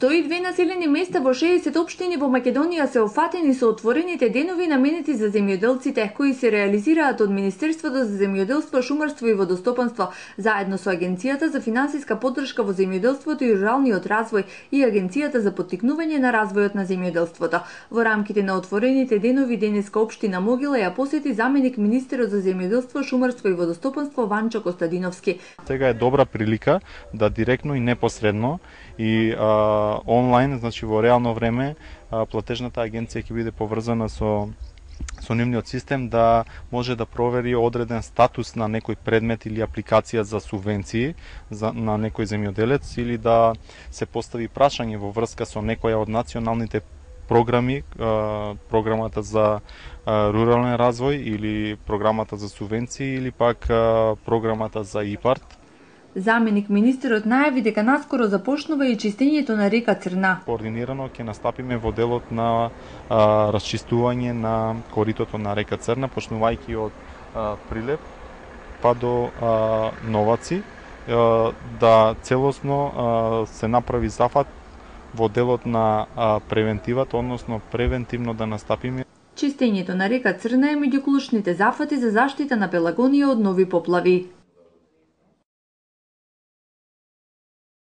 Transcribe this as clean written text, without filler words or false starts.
102 населени места во 60 општини во Македонија се офатени со отворените денови наменети за земјоделците, кои се реализираат од Министерството за земјоделство, шумарство и водостопанство, заедно со Агенцијата за финансиска поддршка во земјоделството и руралниот развој и Агенцијата за поттикнување на развојот на земјоделството. Во рамките на отворените денови денеска општина Могила ја посети заменик министерот за земјоделство, шумарство и водостопанство Ванчо Костадиновски. Сега е добра прилика да директно и непосредно и онлайн, значи во реално време, платежната агенција ќе биде поврзана со нивниот систем да може да провери одреден статус на некој предмет или апликација за субвенции на некој земјоделец или да се постави прашање во врска со некоја од националните програми, програмата за рурален развој или програмата за субвенции или пак програмата за ИПАРТ. Заменик министерот најави дека наскоро започнува и чистењето на река Црна. Координирано ќе настапиме во делот на расчистување на коритото на река Црна, почнувајќи од Прилеп па до Новаци, да целосно се направи зафат во делот на превентивата, односно превентивно да настапиме. Чистењето на река Црна е меѓу клучните зафати за заштита на Пелагонија од нови поплави.